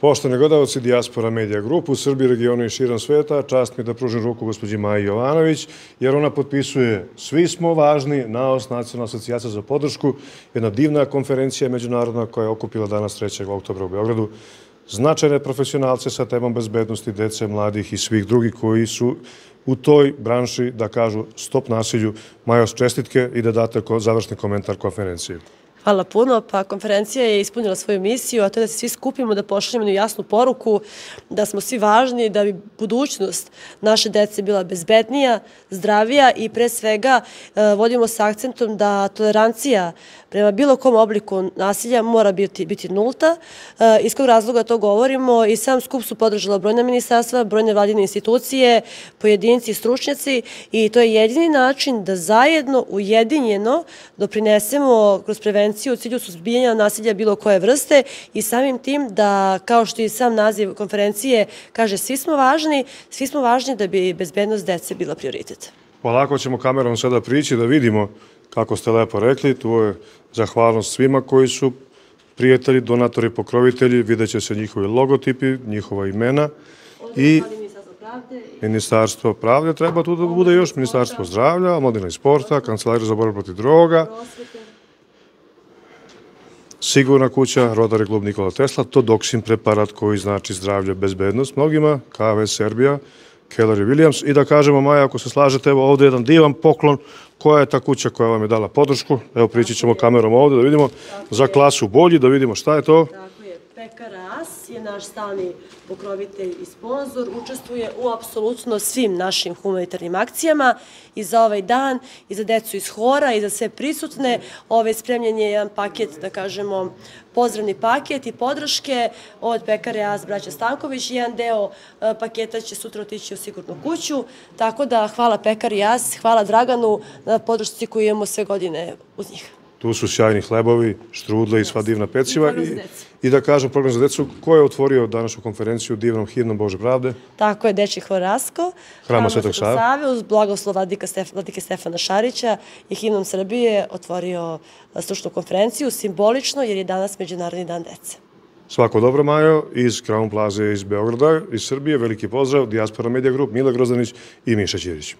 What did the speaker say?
Poštovani gledalci Dijaspora Media Group u Srbiji, regionu i širom sveta, čast mi da pružim ruku gospođi Maji Jovanović, jer ona potpisuje Svi smo važni, NAOS, Nacionalna asocijacija za podršku, jedna divna konferencija međunarodna koja je okupila danas 3. oktobra u Beogradu značajne profesionalce sa temom bezbednosti dece, mladih i svih drugih koji su u toj branši da kažu stop nasilju. Majo, čestitke i da date završni komentar konferencije. Hvala puno. Pa konferencija je ispunila svoju misiju, a to je da se svi skupimo, da pošaljemo jednu jasnu poruku, da smo svi važni, da bi budućnost naše dece bila bezbednija, zdravija i pre svega vodimo sa akcentom da tolerancija prema bilo kom obliku nasilja mora biti nulta. Iz kog razloga to govorimo? I sam skup su podržala brojna ministarstva, brojne vladine institucije, pojedinci i stručnjaci i to je jedini način da zajedno, ujedinjeno doprinesemo kroz prevenciju u cilju suzbijanja nasilja bilo koje vrste i samim tim da, kao što i sam naziv konferencije kaže, svi smo važni da bi bezbednost dece bila prioritet. Polako ćemo kamerom sada prići da vidimo, kako ste lepo rekli, tu je zahvalnost svima koji su prijatelji, donatori, pokrovitelji, vidjet će se njihovi logotipi, njihova imena i Ministarstvo pravde, treba tu da bude još Ministarstvo zdravlja, omladine i sporta, Kancelarija za borbu protiv droga, Sigurna kuća, Rotary klub Nikola Tesla, Todoksin preparat koji znači zdravlje, bezbednost mnogima, KV Serbija, Keller i Williams. I da kažemo, Maja, ako se slažete, evo ovdje jedan divan poklon. Koja je ta kuća koja vam je dala podršku? Evo, prići ćemo kamerom ovdje da vidimo za klasu bolji, da vidimo šta je to. Tako je, Pekara As je naš stalni pokrovitelj i sponsor, učestvuje u apsolutno svim našim humanitarnim akcijama i za ovaj dan, i za decu iz Hora, i za sve prisutne. Spremljen je jedan paket, da kažemo, pozdravni paket i podrške od Pekare As braća Stanković. Jedan deo paketa će sutra otići u Sigurnu kuću, tako da hvala Pekari As, hvala Draganu na podršci koju imamo sve godine uz njih. Tu su sjajni hlebovi, štrudle i sva divna peciva. I da kažem, program za decu, ko je otvorio današnju konferenciju divnom himnom Bože pravde? Tako je, Dečji hor Rasko, Hrama Svetog Save, uz blagoslov vladike Stefana Šarića i himnom Srbije otvorio stručnu konferenciju, simbolično jer je danas Međunarodni dan dece. Svako dobro, Majo, iz Crown Plaza iz Beograda, iz Srbije, veliki pozdrav, Dijaspora Media Group, Mila Grozdanić i Miša Ćirić.